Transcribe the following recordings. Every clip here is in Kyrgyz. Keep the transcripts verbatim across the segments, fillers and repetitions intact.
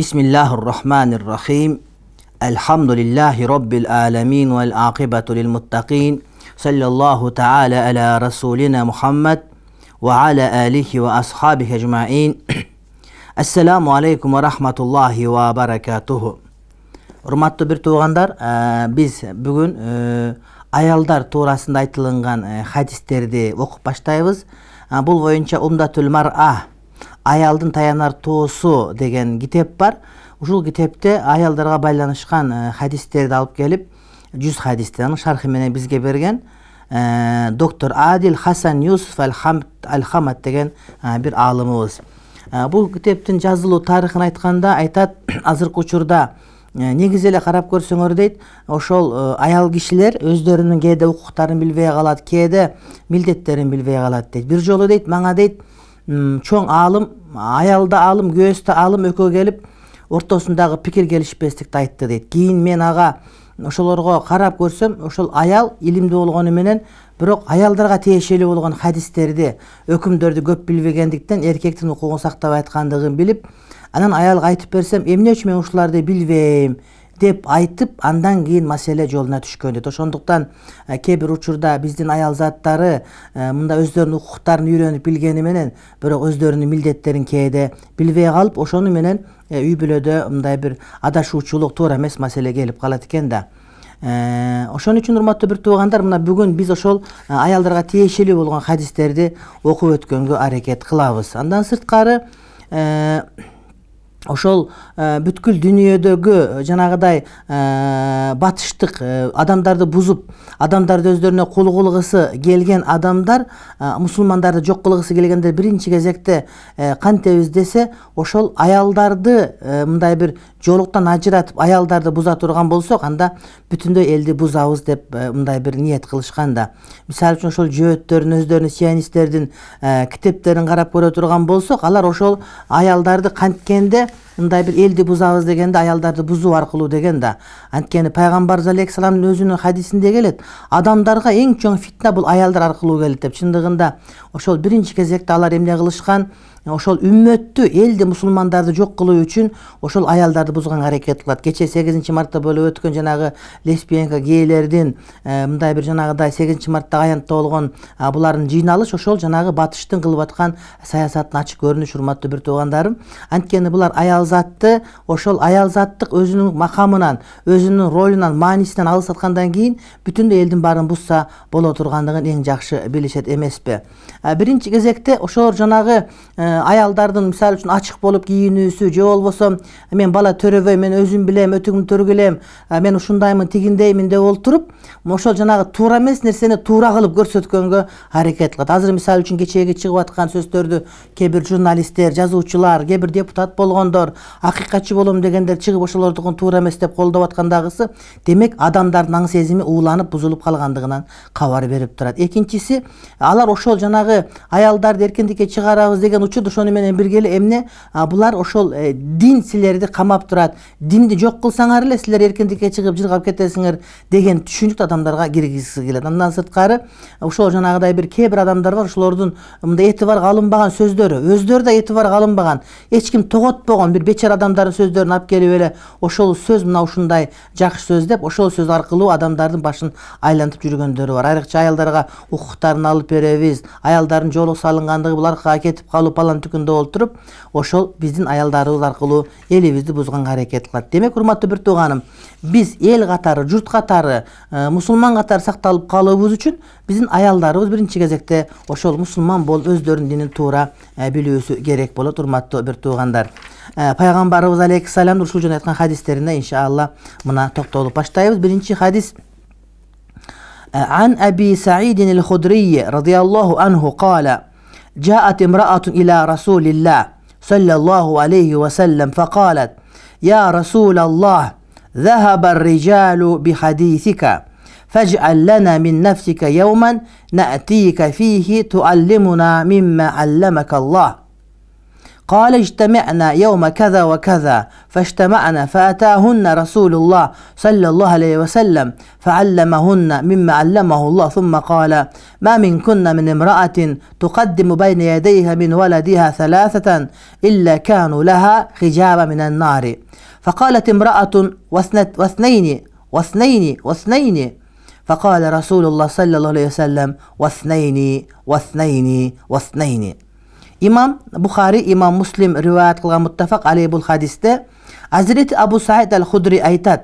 Bismillahirrahmanirrahim. Elhamdülillahi Rabbil alemin vel akibatu lil muttaqin. Sallallahu ta'ala ala Rasulina Muhammed ve ala alihi ve ashabihi ecma'in. Assalamu aleykum ve rahmatullahi ve berekatuhu. Urmatlı bir tuğandar, biz bugün ayaldar tuğrasında aytılıngan hadislerdi okup başlayız. Bul boyunca Umdatül Mar'a, ayaldın tayanar tuğusu degen kitep var. Uşul kitepte ayaldarga baylanışkan hadislerdi alıp gelip yüz hadislerin şarkı menen bizge bergen Doktor Adil Hasan Yusuf Al-Hamad degen bir alımımız. Bu kiteptin жазылуу тарыхын айтканда айтат, азыркы учурда негизи эле карап көрсөңөр дейт, ошол аял кишилер өздөрүнүн кээде укуктарын билбей калат, кээде милдеттерин билбей калат дейт. Бир жолу дейт, мага дейт, чоң аалым, аялда аалым, күйөөстө аалым экөө келип, ортосундагы пикир келишпестикти айтты дейт. Кийин мен ага ошолорго карап көрсөм, ошол аял илимдүү болгону менен, бирок аялдарга тиешелүү болгон хадистерди, өкүмдөрдү көп билбегендиктен эркектин укугун сактап айткандыгын билип, анан аялга айтып берсем, эмне үчүн мен ушуларды билбейм деп айтып, андан кийин маселе жолуна түшкөн дейт. Ошондуктан кээ бир учурда биздин аял заттары мында өздөрүнүн укуктарын үйрөнүп билгени менен, бирок өздөрүнүн милдеттерин кээде билбей калып, ошону менен үй бүлөдө мындай бир адашуучулук, туура эмес маселе келип калат экен да. Ошон үчүн урматтуу бир туугандар, мына бүгүн биз ошол аялдарга тиешелүү болгон хадистерди окуп өткөнгө аракет кылабыз. Андан сырткары ошол бүткүл дүйнөдөгү жанагыдай батыштык адамдарды бузуп, адамдарды өздөрүнө кул кылгысы келген адамдар, мусулмандарды жок кылгысы келгенде биринчи кезекте кантебиз десе, ошол аялдарды мындай бир жолуктан ажыратып, аялдарды буза турган болсок, анда бүтүндөй элди бузабыз деп мындай бир ниет кылышкан да. Мисалы үчүн ошол жөөттөрүн, өздөрүнүн сионисттердин китептерин карап көрө турган болсок, алар ошол аялдарды канткенде мындай бир элди бузабыз дегенде аялдарды бузуу аркылуу деген да. Анткени пайгамбарыбыз алейхисаламдын өзүнүн хадисинде келет, адамдарга эң чоң фитна бул аялдар аркылуу келет деп. Чындыгында ошол биринчи кезекте алар эмне кылышкан? Ошол үммөттү, элди, мусулмандарды жок кылуу үчүн ошол аялдарды бузганга аракет кылат. Кече сегизинчи мартта болуп өткөн жанагы лесбиянка, гейлердин мындай бир жанагыдай сегизинчи марттагы аянтта болгон булардын жыйналыш ошол жанагы батыштын кылып аткан саясаттын ачык көрүнүшү, урматтуу бир туугандарым. Анткени булар аял затты, ошол аял заттык өзүнүн макамынан, өзүнүн ролунан, маанисинен алыс аткандан кийин бүтүндөй элдин баарын бузса боло тургандыгын эң жакшы билишет эмеспи? Биринчи кезекте ошол жанагы аялдардын мисалы үчүн ачык болуп кийинүүсү, же болбосо мен бала төрөбөйм, мен өзүм билем, өтүгүм төргүлем, мен ушундаймын, тигиндеймин деп олтуруп, ошол жанагы туура эмес нерсени туура кылып көрсөткөнгө аракет кылат. Азыр мисалы үчүн кечеги чыгып аткан сөздөрдү кээ бир журналисттер, жазуучулар, кээ бир депутат болгондор, акыйкатчы болом дегендер чыгып ошолордукун туура эмес деп колдоп аткандагысы, демек адамдардын аң сезими ууланып, бузулуп калгандыгынан кабар берип турат. Экинчиси, алар ошол жанагы аялдарды эркиндикке чыгарабыз деген учурда ошону менен бирге эле эмне, булар ошол дин силерди камап турат, динди жок кылсаңар эле силер эркиндикке чыгып жыргап кетесиңер деген түшүнүктү адамдарга киргизгиси келет. Андан сырткары ошол жанагыдай бир кээ бир адамдар бар, ошолордун мындай этибарга алынбаган сөздөрү, өздөрү да этибарга алынбаган, эч ким тоготпогон бир бечара адамдардын сөздөрүн алып келип эле ошол сөз мына ушундай жакшы сөз деп, ошол сөз аркылуу адамдардын башын айлантып жүргөндөрү бар. Айрыкча аялдарга укуктарын алып беребиз, аялдардын жолу салынгандыгы булар кетип калып алан түкүндө олтуруп, ошол биздин аялдарыбыз аркылуу элибизди бузганга аракет кылат. Демек, урматтуу бир тууганым, биз эл катары, журт катары, мусулман катары сакталып калуубуз үчүн биздин аялдарыбыз биринчи кезекте ошол мусулман болуп өздөрүнүн динин туура билүүсү керек болот, урматтуу бир туугандар. Пайгамбарыбыз алейхиссалам ушул жөнүндө айткан хадистерине иншалла мына токтолуп баштайбыз. Биринчи хадис: Ан Аби Саидин аль-Худрий радияллаху анху кала: جاءت امرأة إلى رسول الله صلى الله عليه وسلم فقالت: يا رسول الله، ذهب الرجال بحديثك، فاجعل لنا من نفسك يوما نأتيك فيه تعلمنا مما علمك الله. قال اجتمعنا يوم كذا وكذا فاجتمعنا فأتاهن رسول الله صلى الله عليه وسلم فعلمهن مما علمه الله ثم قال ما منكن من امرأة تقدم بين يديها من ولدها ثلاثة إلا كانوا لها حجابا من النار. فقالت امرأة واثنين واثنين واثنين فقال رسول الله صلى الله عليه وسلم واثنين واثنين واثنين. İmam Bukhari, İmam Muslim rivayet kılgan muttafaq aleyh bu hadiste Hazreti Abu Said el-Hudri aytat: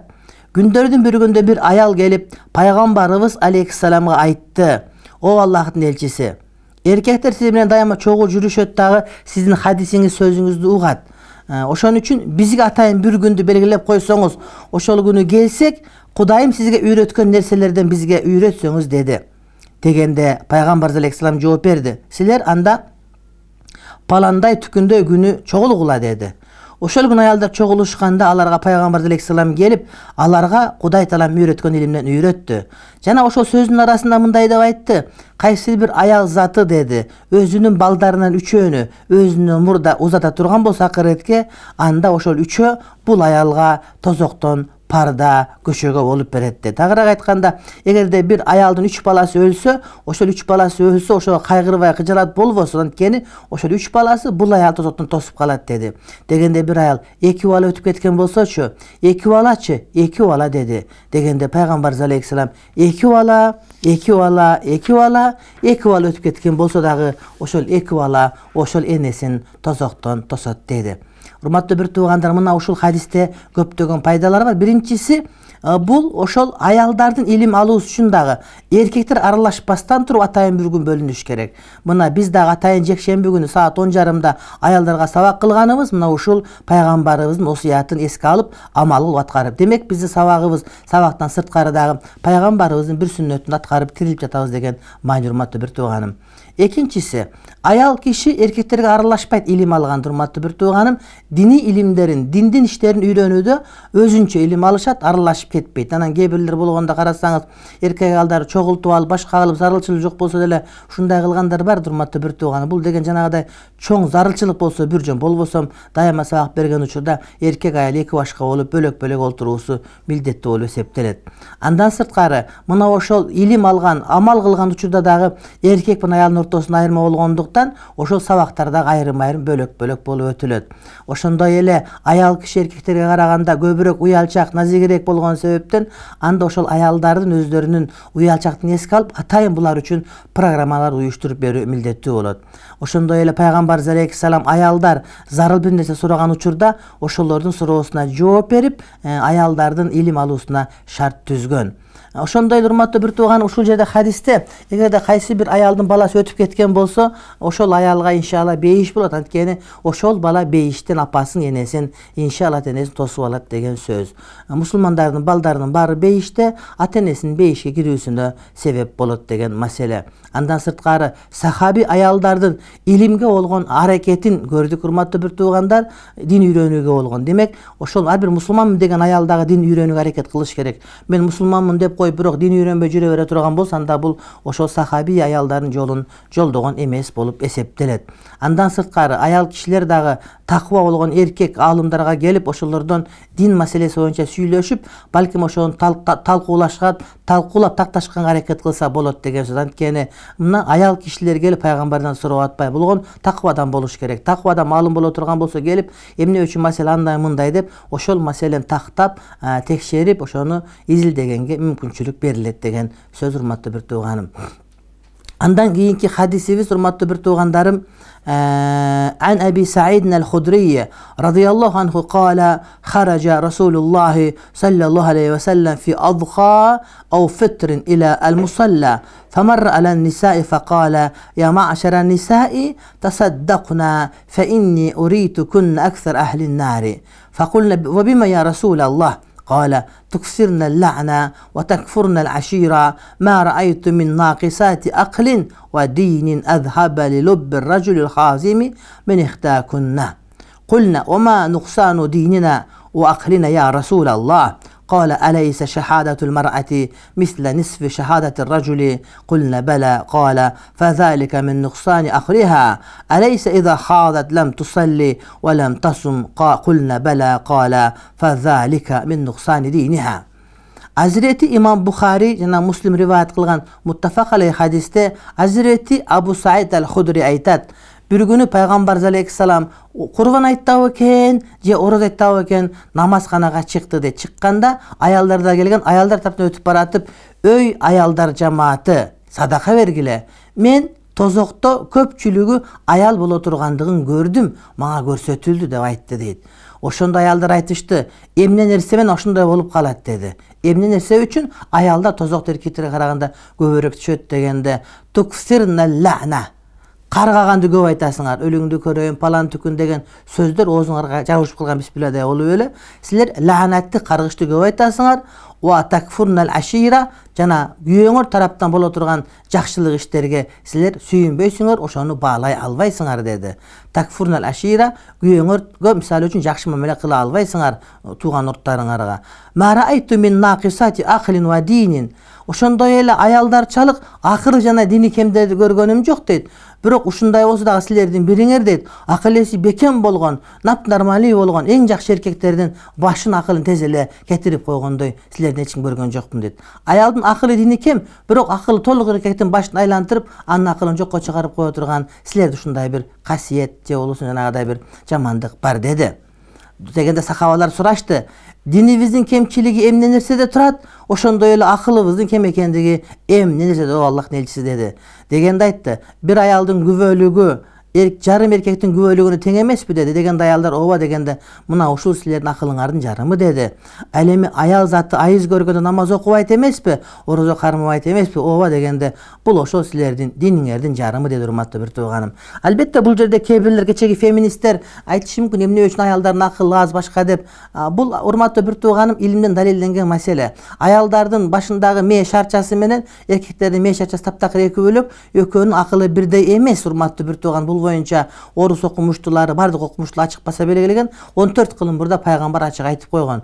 Gündörдүн bir günde bir ayal gelip Peygamberimiz aleyhisselam'a ayttı: O Allah'ın elçisi, erkekler siz bilen dayama çoğul жүрүшөт дагы sizin hadisiniz sözünüzdü ugat. Oşon üçün bizge atayın bir gündü belgilep koysoңuz, oşol günü gelsek, Kudayım sizge üretken nerselerden bizge üretsoңuz dedi. Degende Peygamber aleyhisselam жооп берди: Sizler anda palanday tükünde günü çoğulgula dedi. Oşol gün ayalдар çoğuluşkanda alarga Peygamber aleyhisselam gelip alarga Kuday talam üretken ilimden üretti. Jana oşol sözün arasında mınday dep aytты: Kaysi bir ayal zatı dedi, özünün baldarından üçöөнü özünün murda uzata turgan bolsa akiretke, anda oşol üçö bul ayalga tozokton parda köşögө olup beretти. Tagыраак айтканда, эгерде bir ayaldын üç balası ölsө, oşol üç balası ölsө, oşo kaygырбай кыжалат болбосун, анткени oşol üç balası bul ayal tozoктон тосуп калат dedi. Degende bir ayal эки bala өтүп кеткен болсочу, эки балачы, эки bala dedi. Degende Peygamber aleyhisselam эки bala, эки bala, эки bala, эки bala өтүп кеткен болсо дагы oşol эки bala oşol энесин тозоктон тосот dedi. Урматтуу бир туугандар, мына ушул хадисте көптөгөн пайдалар бар. Биринчиси, бул ошол аялдардын илим алуу үчүн дагы эркектер аралашпастан туруп атайын бир күн бөлүнүш керек. Мына биз дагы атайын жекшемби күнү саат он жарымда аялдарга сабак кылганыбыз мына ушул пайгамбарыбыздын осуятын эске алып, амал кылып аткарып. Демек биздин сабагыбыз сабактан сырткары дагы пайгамбарыбыздын бир сүннөтүн аткарып тирилип жатабыз деген маани, урматтуу бир тууганым. Экинчиси, ayal kişi erkeklerге aralashпайт илим алган, урматтуу бир тууганым. Dini ilimlerin, dindin işlerin үйрөнүүдө өзүнчө илим алышат, аралашып кетпейт. Анан кээ бирлер болгондо карасаңыз, эркек аялдар чогултуп алып, башка кылып зарылчылык жок болсо деле ушундай кылгандар бар, урматтуу бир тууганым. Бул деген жанагыдай чоң зарылчылык болсо бир жөн, болбосо дайыма сабак берген учурда эркек аял эки башка болуп бөлөк-бөлөк олтуруусу милдеттүү болуп эсептелет. Андан сырткары, мына ошол илим алган, амал кылган учурда дагы эркек менен аялдын ортосунда айырма болгондуктан ошол сабактарда айрым-айрым бөлөк-бөлөк болуп өтүлөт. Ошондой эле аял киши эркектерге караганда көбүрөөк уялчак, назигирээк болгон себептен анда ошол аялдардын өздөрүнүн уялчактын эске алып, атайын булар үчүн программалар уюштуруп берүү милдеттүү болот. Ошондой эле Пайгамбар алейхиссалам аялдар зарыл бир нерсе сураган учурда ошолордун суроосуна жооп берип, аялдардын илим алуусуна шарт түзгөн. Ошондой урматтуу бир тууган, ушул жерде хадисте эгерде кайсы бир аялдын баласы өтүп кеткен болсо, ошол аялга иншалла бейиш болот. Анткени ошол бала бейиштен апасын, энесин иншалла энесин тосуп алат деген сөз. Мусулмандардын балдарынын баары бейиште, ата энесинин бейишке кирүүсүнө себеп болот деген маселе. Андан сырткары сахаби аялдардын илимге болгон аракетин көрдүк, урматтуу бир туугандар, дин үйрөнүүгө болгон. Демек, ошол ар бир мусулманмын деген аял дагы дин үйрөнүүгө аракет кылыш керек. Мен мусулманмын деп кой, бирок дин үйрөнбөй жүрө бере турган болсо, анда бул ошол сахаби аялдардын жолун жолдогон эмес болуп эсептелет. Андан сырткары аял кишилер дагы таква болгон эркек аалымдарга келип, ошолордон дин маселеси боюнча сүйлөшүп, балким ошону талкуулашка, талкуулап такташканга аракет кылса болот деген сөз. Анткени мына аял кишилер келип пайгамбардан сурап атпай, болгон таквадан болуш керек. Таквадан маалым боло турган болсо келип, эмне үчүн маселе андай мындай деп, ошол маселени тактап, текшерип, ошону изилдегенге мүмкүнчүлүк берилет деген сөз, урматтуу бир тууганым. Андан кийинки хадисибиз, урматтуу бир туугандарым, عن أبي سعيد الخدري رضي الله عنه قال خرج رسول الله صلى الله عليه وسلم في أضحى أو فطر إلى المصلى فمر على النساء فقال يا معشر النساء تصدقنا فإني أريتكن أكثر أهل النار فقلنا وبما يا رسول الله قال تكثرن اللعنة وتكفرن العشيرة ما رأيت من ناقصات أقل ودين أذهب للب الرجل الخازم من إخداكن قلنا وما نقصان ديننا وأقلنا يا رسول الله قال أليس شهادة المرأة مثل نصف شهادة الرجل قلنا بلى قال فذلك من نقصان أخرها أليس إذا حاضت لم تصلي ولم تصم قلنا بلى قال فذلك من نقصان دينها. Hazreti İmam Bukhari jana Muslim rivayet kılgan muttafaq aleyh hadiste Hazreti Abu Said al-Hudri aytat: bir günü Peygamber aleyhisselam kurban ayttı eken, je oroz ayttı eken, namazxanaga çıktı de çıkkanda ayallarda gelgen ayallar tarafından ötüp baratıp, öy ayallar cemaati sadaka vergile. Men tozokto köpçülüğü ayal bolo turgandığın gördüm, mağa görsetüldü dep aytты deyit. Oşonda ayallar aytıştı, emne nerse men oşonday bolup kalat dedi. Emne nerse üçün ayalda tozok erkekтерге караганда көбүрөөк түшөт дегенде tukfirna la'na. Каргаганды көп айтасыңар, өлүңдү көрөйүн, палан түкүн деген сөздөр оозуңарга жабышып калган бисмилладай болуп эле. Силер лаанатты, каргышты көп айтасыңар. Ва такфурнал ашира, жана күйөөңөр тараптан боло турган жакшылык иштерге силер сүйүнбөйсүңөр, ошону баалай албайсыңар деди. Такфурнал ашира, күйөөңөргө мисалы үчүн жакшы мамиле кыла албайсыңар тууган урттарыңарга. Ма раайту мин нақисати акhlin ва динин. Ошондой эле аялдарчалык акыры жана дини кемдерди көргөнүм жок дейт. Бирок ушундай болсо дагы силердин бириңер дейт, акыл эси бекем болгон, нап нормалий болгон эң жакшы эркектердин башын акылын тез эле кетирип койгондой силердин эч ким көргөн жокмун дейт. Аялдын акылы дини кем, бирок акылы толук эркектин башын айлантырып, анын акылын жокко чыгарып кое турган силерде ушундай бир касиет же болбосо жанагыдай бир жамандык бар деди. Дегенде сахабалар сурашты: dinibizin kemçiligi emne nerede turat, oşondoy эле akılыбыздын кем экендиги эмне нерседе о Аллахтын элчиси деди. Дегенде айтты, bir ayaldын күбөлүгү эрк жарым эркектин күбөлүгүнө тең эмеспи деди. Дегенде аялдар ооба дегенде мына ушул силердин акылыңардын жарымы деди. Ал эми аял заты айыз көргөндө намаз окубайт эмеспи, орозо кармабайт эмеспи, ооба дегенде бул ошол силердин диниңердин жарымы деди урматтуу бир тууганым. Албетте бул жерде кээ бирлер кечеги феминисттер айтышы мүмкүн эмне үчүн аялдардын акылы аз башка деп. Бул урматтуу бир тууганым илимден далилденген маселе. Аялдардын башындагы мээ шарчасы менен эркектердин мээ шарчасы таптакыр эки бөлөк, экөөнүн акылы бирдей эмес урматтуу бир тууган. Бул боюнча орус окумуштуулары, бардык окумуштуулар ачык баса белгилеген он төрт кылым бурда пайгамбар ачык айтып койгон.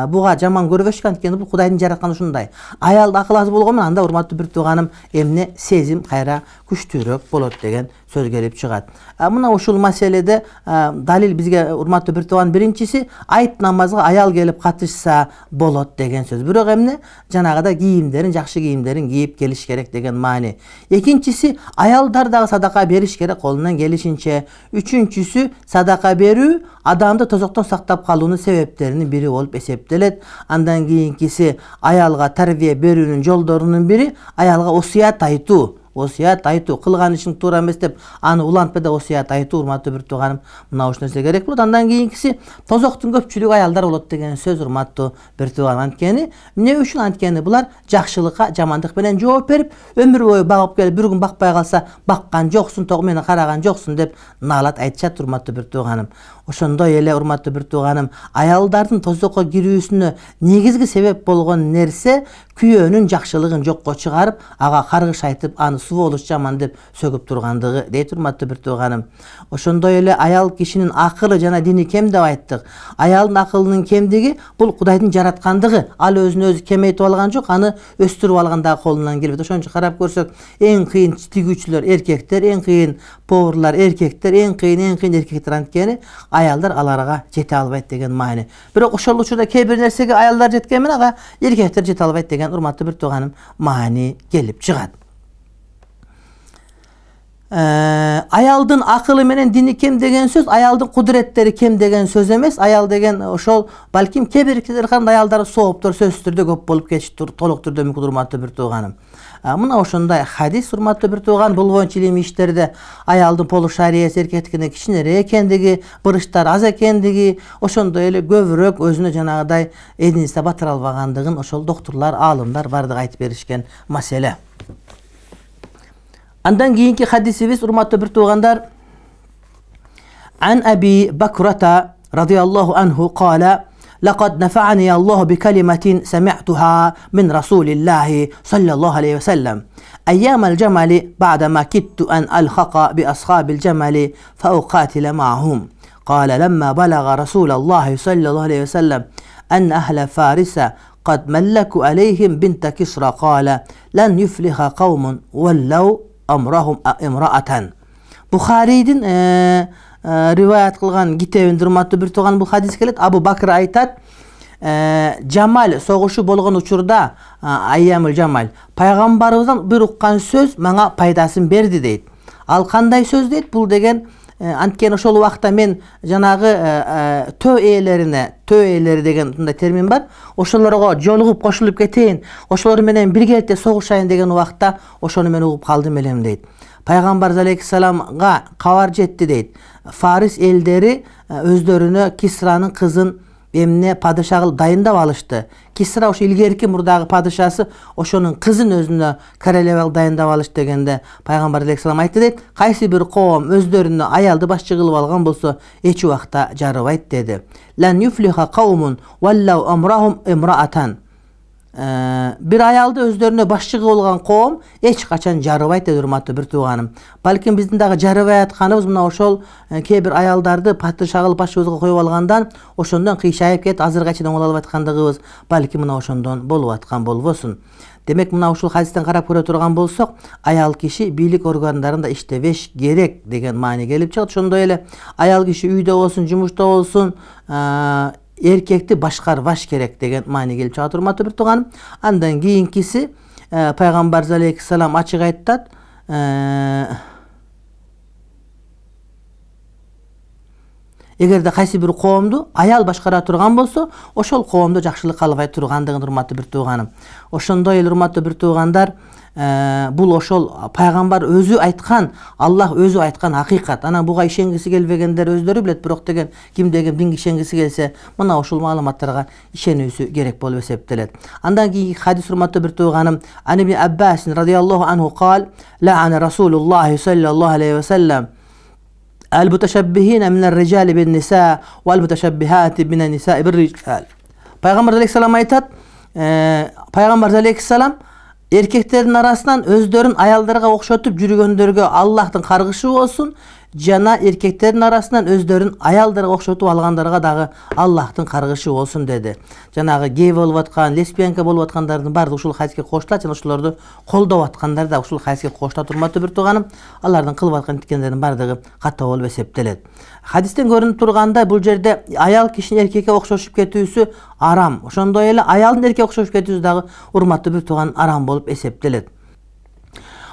Буга жаман көрбөшкөн, анткени бул Кудайдын жаратканы ушундай. Аялда акыл аз болгон менен анда урматтуу бир тууганым эмне сезим кайра күчтүүрөөк болот деген сөз келип чыгат. Мына ушул маселеде далил бизге урматтуу бир тууган биринчиси айт намазга аял келип катышса болот деген сөз. Бирок эмне жанагыда кийимдерин, жакшы кийимдерин кийип келиш керек деген маани. Экинчиси аялдар дагы садака бериш керек колунан келишинче. Үчүнчүсү садака берүү адамды тозоктон сактап калуунун себептеринин бири болуп эсептелет. Андан кийинкиси аялга тарбия берүүнүн жолдорунун бири аялга осуят айтуу. Осуят айтуу, кылган ишиң туура эмес деп аны улантпа да осуят айтуу урматтуу бир тууганым. Мына ушул нерсе керек болот. Андан кийинкиси тозоктун көпчүлүгү аялдар болот деген сөз урматтуу бир тууганым. Анткени эмне үчүн? Анткени булар жакшылыкка жамандык менен жооп берип, өмүр бою багып келип, бир күн бакпай калса, баккан жоксуң, тог мени караган жоксуң деп наалат айтышат урматтуу бир тууганым. Ошондой эле урматтуу бир тууганым, аялдардын тозокко кирүүсүнө негизги себеп болгон нерсе күйөөнүн жакшылыгын жокко чыгарып, ага каргыш айтып, аны сволочь жаман деп сөгүп тургандыгы дейт урматтуу бир тууганым. Ошондой эле аял кишинин акылы жана дини кем деп айттык. Аялдын акылынын кемдиги бул Кудайдын жараткандыгы. Ал өзүн өзү кемейтип алган жок, аны өстүрүп алганда колунан келбейт. Ошон үчүн карап көрсөк, эң кыйын тигүүчүлөр эркектер, эң кыйын поварлар эркектер, эң кыйын эң кыйын эркектер, анткени аялдар аларга жете албайт деген маани. Бирок ошол учурда кээ бир нерсеге аялдар жеткен менен ага эркектер жете албайт деген урматтуу бир тууганым маани келип чыгат. Аялдын акылы менен дини кем деген сөз, аялдын кудуреттери кем деген сөз эмес. Аял деген ошол балким кээ бир эркектер кандай аялдары сооптор сөзсүз түрдө көп болуп кетиштир, толук түрдө мүмкүн урматтуу бир тууганым. Мына ошондой хадис урматтуу бир тууган, бул боюнча илимий иштерде аялдын полушариясы эркектикине кичинерээк экендиги, бурычтары аз экендиги, ошондой эле көбүрөөк өзүнө жанагыдай эдинисте батыра албагандыгын ошол доктурлар, аалымдар бардыгы айтып беришкен маселе. Андан кийинки хадисибиз урматтуу бир туугандар, Ан Аби Бакрата радияллаху анху قال لقد نفعني الله بكلمة سمعتها من رسول الله صلى الله عليه وسلم أيام الجمل بعدما كدت أن ألحق بأصحاب الجمل فأقاتل معهم. قال لما بلغ رسول الله صلى الله عليه وسلم أن أهل فارس قد ملكوا عليهم بنت كسرى قال لن يفلح قوم ولوا أمرهم امرأة. Бухарийдин риваят кылган китебинде урматтуу бир тууган бул хадис келет. Абу Бакр айтат, Жамал согушу болгон учурда, Айямул Жамал, пайгамбарыбыздан бир уккан сөз мага пайдасын берди дейт. Ал кандай сөз дейт? Бул деген анткени ошол убакта мен жанагы төө ээлерине, төө ээлери деген мындай термин бар. Ошолорго жолугуп кошулуп кетейин, ошолор менен биргеликте согушайын деген убакта ошону мен угуп калдым элем дейт. Пайгамбар алейхиссаламга кабар жетти дейт. Фарис элдери өздөрүнө Кисранын кызын эмне падыша кылып дайындап алышты. Кисра ошо илгерки мурдагы падышасы ошонун кызын өзүнө королева кылып дайындап алышты дегенде Пайгамбар алейхиссалам айтты дейт, кайсы бир коом өздөрүнө аялды башчы кылып алган болсо эч убакта жарыбайт деди. Лан юфлиха каумун валлау амрахум имраатан. Бир аялды өздөрүнө башчы кылып алган коом эч качан жарыбайт деди урматтуу бир тууганым. Балким биздин дагы жарыбай атканыбыз мына ошол кээ бир аялдарды падыша кылып башыбызга коюп алгандан ошондон кыйшайып кетип азыркыга чейин оңоло албай аткандыгыбыз балким мына ошондон болуп аткан болбосун. Демек мына ушул хадистен карап көрө турган болсок, аял киши бийлик органдарында иштебеш керек деген маани келип чыгат. Ошондой эле аял киши үйдө болсун, жумушта болсун, эркекти башкарбаш керек деген маани келип чыгат урматтуу бир тууганым. Андан кийинкиси Пайгамбар алейхиссалам ачык айтат, эгерде кайсы бир коомду аял башкара турган болсо, ошол коомдо жакшылык калбай тургандыгын урматтуу бир тууганым. Ошондой эле урматтуу бир туугандар, бул ошол пайгамбар өзү айткан, Аллах өзү айткан акыйкат. Анан буга ишенгиси келбегендер өздөрү билет, бирок деген кимдеги динге ишенгиси келсе, мына ушул маалыматтарга ишенүүсү керек болуп эсептелет. Андан кийинки хадис урматтуу бир тууганым, Ан ибн Аббас радияллаху анху кал, ла'ана Расулуллах саллаллаху алейхи ва саллям المتشبهين من الرجال بالنساء والمتشبهات من النساء بالرجال. Пайгамбар алейхиссалам айтат, Пайгамбар алейхиссалам эркектердин арасынан өздөрүн аялдарга окшотуп жүргөндөргө Аллахтын каргышы болсун, жана эркектердин арасынан өздөрүн аялдарга окшотуп алгандарга дагы Аллахтын каргышы болсун деди. Жанагы гей болуп аткан, лесбиянка болуп аткандардын баардыгы ушул хадиске коштулат, жана ошолорду колдоп аткандар да ушул хадиске коштулат урматтуу бир тууганым. Алардын кылып аткан иткендердин баардыгы ката болуп эсептелет. Хадистен көрүнүп тургандай, бул жерде аял кишинин эркекке окшошуп кетүүсү арам. Ошондой эле аялдын эркекке окшошуп кетүүсү дагы урматтуу бир тууган арам болуп эсептелет.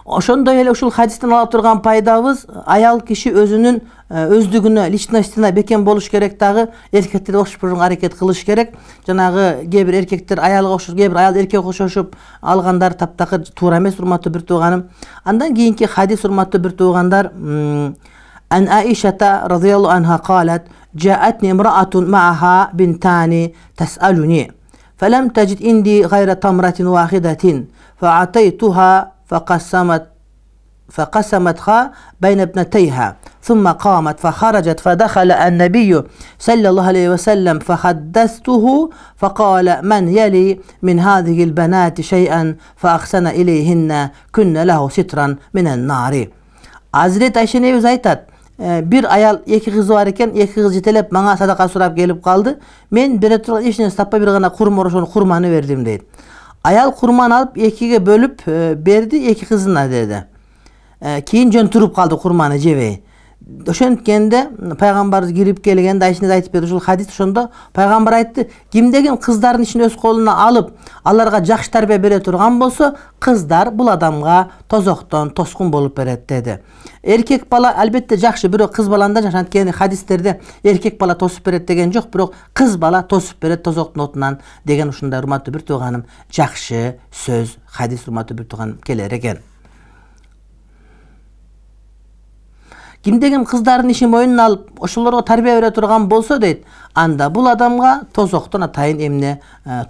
Ошондой эле ушул хадистен ала турган пайдабыз, аял киши өзүнүн өздүгүнө, личностине бекем болуш керек, дагы эркектерге окшоп аракет кылыш керек. Жанагы кээ бир эркектер аялга окшош, кээ бир аял эркекке окшошуп алгандар таптакыр туура эмес урматтуу бир тууганым. Андан кийинки хадис урматтуу бир туугандар, Ан Аишата радияллаху анха калат, جاءتني امرأة معها بنتان تسألني فلم تجد عندي غير تمرة واحدة فأعطيتها فقسمت فقسمتها بين ابنتيها ثم قامت فخرجت فدخل النبي صلى الله عليه وسلم فحدثته فقال من يلي من هذه البنات شيئا فأحسن إليهن كن له سترا من النار. Hazreti Ayşe nebis aytat, bir ayal эки кызы бар экен, эки кыз жетелеп мага садака сурап келип калды. Мен бере турган эч нерсе таппай бир гана курма, ошону курманы бердим дейт. Аял курманы алып экиге бөлүп берди, эки кызына деди. Кийин жөн туруп калды курманы жебей. Ошенткенде пайгамбарыбыз кирип келгенде Айшене айтып берди ушул хадис. Ошондо пайгамбар айтты, кимдеген кыздардын ишин өз колуна алып, аларга жакшы тарбия бере турган болсо, кыздар бул адамга тозоктон тоскун болуп берет деди. Эркек бала албетте жакшы, бирок кыз баланда анткени хадистерде эркек бала тосуп берет деген жок, бирок кыз бала тосуп берет тозоктун отунан деген ушундай урматтуу бир тууганым жакшы сөз, хадис урматтуу бир тууганым келер экен. Кимдеген кыздардын ишин мойнуна алып, ошолорго тарбия бере турган болсо дейт, анда бул адамга тозоктон атайын эмне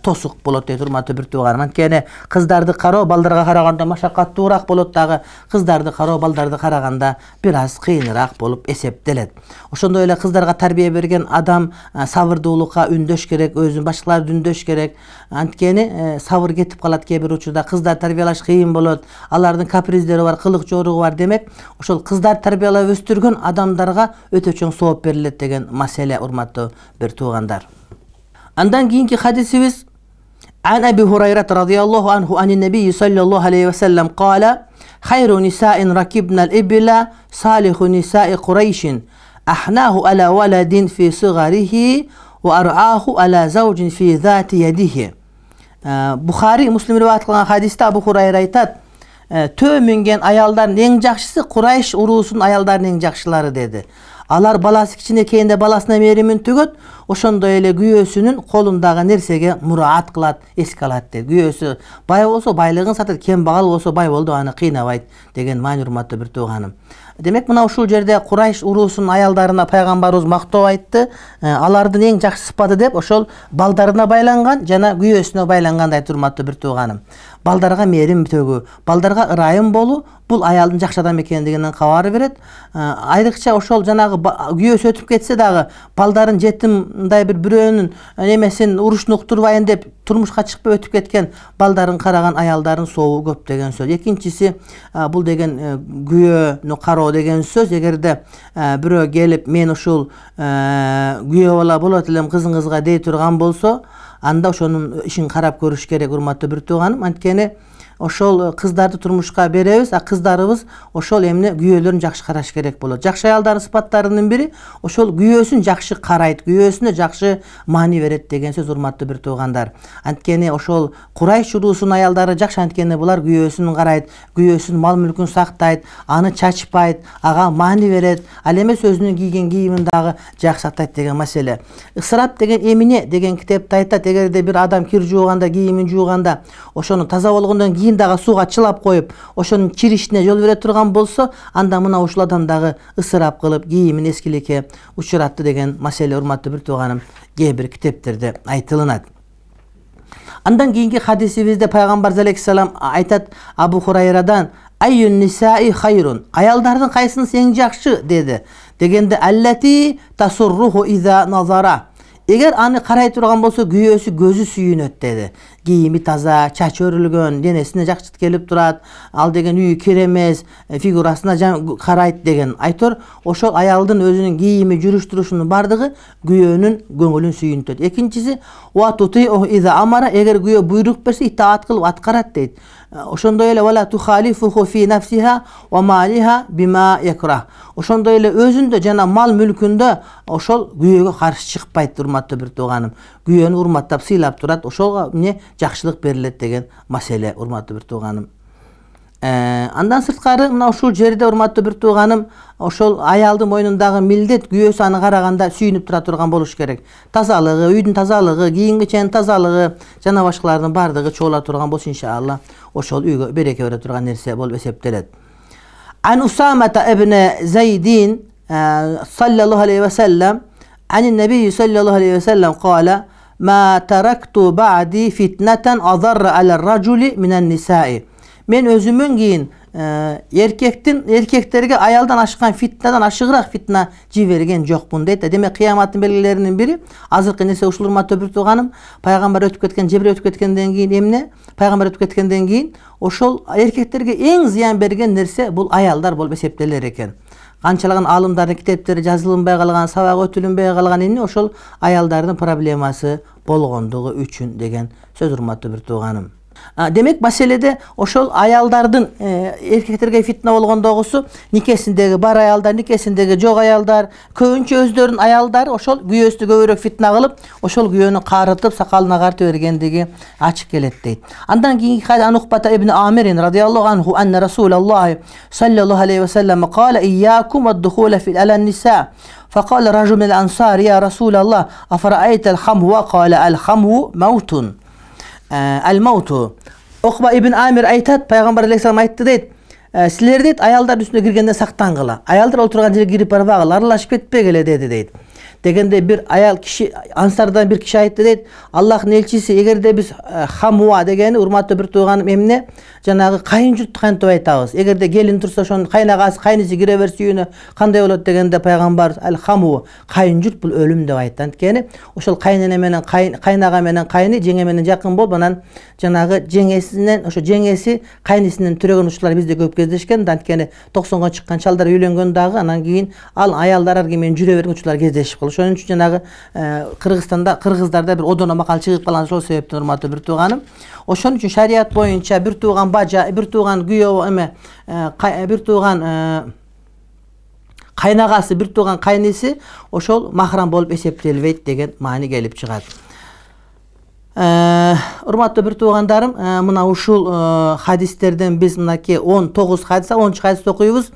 тосук болот дейт урматтуу бир тууганым. Анткени кыздарды кароо балдарга караганда машакаттуураак болот, дагы кыздарды кароо балдарды караганда бир аз кыйыныраак болуп эсептелет. Ошондой эле кыздарга тарбия берген адам сабырдуулукка үндөш керек, өзүн башкаларды үндөш керек. Анткени сабыр кетип калат кээ бир учурда, кыздар тарбиялаш кыйын болот, алардын каприздери бар, кылык жоругу бар. Демек, ошол кыздар тарбиялап өстүргөн адамдарга өтө чоң сооп берилет деген маселе урматтуу бир туугандар. Андан кийинки хадисибиз عن أبي هريرة رضي الله عنه عن النبي صلى الله عليه وسلم قال خير نساء ركبنا الإبل صالح نساء قريش أحناه على ولد في صغره وأرعاه على زوج في ذات يده. Bukhari Muslim rivayet kılgan hadiste Abu Hurayra aytat, tö müngen ayalların en jakşısı Kurayş urusunun ayallarının en jakşılары dedi. Alar balası kichine keyinde balasına merimin tügöt, oşondoy ele güyösünün kolundağı nersege muraat kılat, eski alat dedi. Güyösü bay olsa baylığın satır, kembagal olsa bay oldu, anı kıynabayt degen mani hurmatlı bir tuğanım. Demek mına uşul jerde Kurayş urusunun ayallarına Peygamberimiz maktoo aytты. Alardın en jakşı sıfatı dep oşol baldarına baylangan jana güyösüne baylangan ayt hurmatlı bir tuğanım. Baldarga merim tөгүү, baldarga ырайым болуу бул аялдын жакшы адам экендигинен кабар берет. Айрыкча ошол жанагы күйөөсү өтүп кетсе дагы балдарын жетим мындай бир бирөөнүн немесин урушун уктурбайын деп турмушка чыкпай өтүп кеткен балдарын караган аялдардын сообу көп деген сөз. Экинчиси бул деген күйөөнү кароо деген сөз. Эгерде бирөө келип мен ушул күйөө бала болот элем кызыңызга дей турган болсо, анда ошонун ишин карап көрүш керек урматтуу бир тууганым. Анткени ошол кыздарды турмушка беребиз, а кыздарыбыз ошол эмне күйөөлөрүн жакшы караш керек болот. Жакшы аялдардын сыпаттарынын бири ошол күйөөсүн жакшы карайт, күйөөсүнө жакшы маани берет деген сөз урматтуу бир туугандар. Анткени ошол Курайш урусунун аялдары жакшы, анткени булар күйөөсүн карайт, күйөөсүнүн мал мүлкүн сактайт, аны чачпайт, ага маани берет, ал эмес өзүнүн кийген кийимин дагы жакшы сактайт деген маселе. Ысырап деген эмне деген китепте айтат, эгерде бир адам кир жууганда, кийимин жууганда ошону таза болгондон кийин дагы сууга чылап коюп, ошонун чиришине жол бере турган болсо, анда мына ушул адам дагы ысырап кылып, кийимин эскиликке учуратты деген маселе урматтуу бир тууганым кээ бир китептерде айтылынат. Андан кийинки хадисибизде Пайгамбар алейхиссалам айтат Абу Хурайрадан: "Айюн нисаи хайрун", аялдардын кайсынысы эң жакшы деди. Дегенде аллати тасурруху иза назара, эгер аны карай турган болсо күйөөсү көзү сүйүнөт деди. Кийими таза, чачы өрүлгөн, денесине жакшы келип турат, ал деген үйү керемес, фигурасына карайт деген. Айтор ошол аялдын өзүнүн кийими, жүрүш турушунун бардыгы күйөөнүн көңүлүн сүйүнтөт. Экинчиси ва тутиу иза амара, эгер күйөө буйрук берсе итаат кылып аткарат дейт. Ошондой эле вала тухалифуху фи нафсиха ва малиха бима якрах. Ошондой эле өзүндө жана мал мүлкүндө ошол күйөөгө каршы чыкпайт урматтуу бир тууганым. Күйөөнү урматтап сыйлап турат, ошолго эмне жакшылык берилет деген маселе урматтуу бир тууганым. Андан сырткары мына ушул жерде урматтуу бир тууганым, ошол аялдын мойнундагы милдет күйөөсү аны караганда сүйүнүп тура турган болуш керек. Тазалыгы, үйдүн тазалыгы, кийим-кеченин тазалыгы жана башкалардын бардыгы чогула турган болсо иншалла ошол үйгө береке бере турган нерсе болуп эсептелет. Ан Усамата ибн Зайдин саллаллаху алейхи ва саллам ан набий саллаллаху алейхи ва саллам кала: "Ма таракту бa'di fitnatan adarra al'ar-rajuli minan-nisa'i." Мен өзүмөн кийин эркектин эркектерге аялдан ашкан фитнадан ашыгыраак фитна жиберген жокмун дейт. Демек кыяматтын белгилеринин бири азыркы нерсе ушул урматтуу бир тууганым, пайгамбар өтүп кеткен, Жебир өтүп кеткенден кийин эмне? Пайгамбар өтүп кеткенден кийин ошол эркектерге эң зыян берген нерсе бул аялдар болуп эсептелер экен. Канчалаган алымдардын китептери жазылынбай калган, сабак өтүлүнбөй калган эмне? Ошол аялдардын проблемасы болгондугу үчүн деген сөз урматтуу бир тууганым. Демек маселеде ошол аялдардын эркектерге фитна болгондогусу никесиндеги бар аялдар, никесиндеги жок аялдар, көбүнчө өздөрүнүн аялдары ошол күйөөсү көбүрөөк фитна кылып, ошол күйөөнү карытып, сакалына картып бергендиги ачык келет дейт. Андан кийинки хадис Анухбата ибн Амирин радиаллаху анху анна Расулаллах саллаллаху алейхи ва саллам кала: "Iyyakum ad-dukhula fi al-nisa." فقال رجل من الأنصار: "يا رسول الله أفرأيت الخمو؟" قال: "الخمو موت." Al-mautu. Окба ибн Амир айтат, Пайгамбар алейхиссалам айтты дейт: "Силер дейт аялдардын үстүнө киргенде сактангыла. Аялдар отурган жерге кирип барбагыла, аралашып кетпегиле" деди дейт. Дегенде бир аял киши, ансардан бир киши айтты дейт: "Аллахтын элчиси, эгерде биз хамуа дегени урматтуу бир тууганым эмне? Жанагы кайын журтты кантип айтабыз? Эгерде келин турса ошонун кайнагасы, кайнысы кире берсе үйүнө кандай болот?" дегенде Пайгамбар ал-хаму, кайын журт бул өлүм деп айтты. Анткени ошол кайнене менен кайнага менен кайны жеңе менен жакын болуп, анан жанагы жеңесинен, ошо жеңеси кайнысынын төрөгөн учурлар бизде көп кездешкен. Анткени токсонго чыккан чалдар үйлөнгөн дагы, анан кийин ал аялдар арги менен жүрө берген учурлар кездешип калат. ошон үчүн жанагы Кыргызстанда кыргыздарда бир одоно макал чыгып калган ошол себептен урматтуу бир тууганым. Ошон үчүн шарият боюнча бир тууган бажа, бир тууган күйөө эме, бир тууган кайнагасы, бир тууган кайниси ошол махрам болуп эсептелбейт деген маани келип чыгат. Урматтуу бир туугандарым, мына ушул хадистерден биз мынакей он тогуз хадис, онунчу хадисти окуйбуз.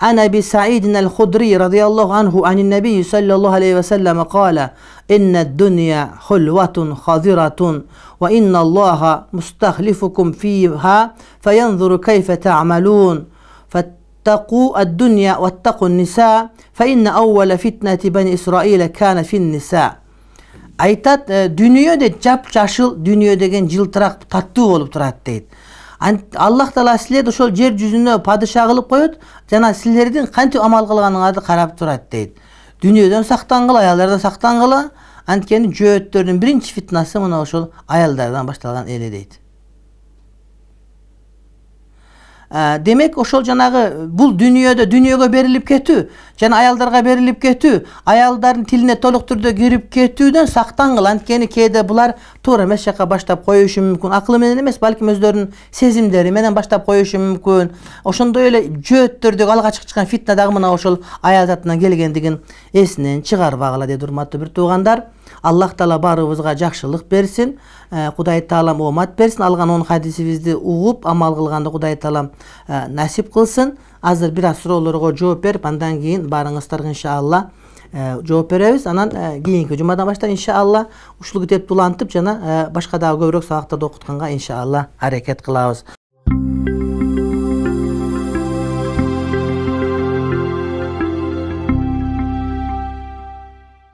عن أبي سعيد الخدري رضي الله عنه عن النبي صلى الله عليه وسلم قال إن الدنيا حلوة خضرة وإن الله مستخلفكم فيها فينظر كيف تعملون فاتقوا الدنيا واتقوا النساء فإن أول فتنة بني إسرائيل كان في النساء. Айтат, дүниеде жап-жашыл, дүние деген жылтырак, таттуу болуп турат дейт. Аллах Таала силерди ошол жер жүзүнө падыша кылып коет, жана силердин кантип амал кылганыңарды карап турат дейт. Дүниеден сактангыла, аялдардан сактангыла, анткени жөөттөрдүн биринчи фитнасы мына ошол аялдардан башталган эле дейт. Демек ошол жанагы бул дүниедө дүниөгө берилип кетүү, жана аялдарга берилип кетүү, аялдардын тилине толук түрдө кирип кетүүдөн сактангыла, анткени кээде булар туура эмес жакка баштап коюшу мүмкүн. Акылы менен эмес, балким өздөрүнүн сезимдери менен баштап коюшу мүмкүн. Ошондой эле жөөттөрдөгү алгачкы чыккан фитна дагы мына ошол аял затынан келгендигин эсинен чыгарбагыла дейт, урматтуу бир туугандар. Аллах Таала баарыбызга жакшылык берсин, Кудай Таалам оомат берсин. Алган он хадисибизди угуп амал кылганды Кудай Таалам насип кылсын. Азыр бир аз суроолорго жооп берип, андан кийин баарыңыздарга иншалла жооп беребиз. Анан кийинки жумадан баштап иншалла ушул китепти улантып жана башка дагы көбүрөөк сабактарды окутканга иншалла аракет кылабыз.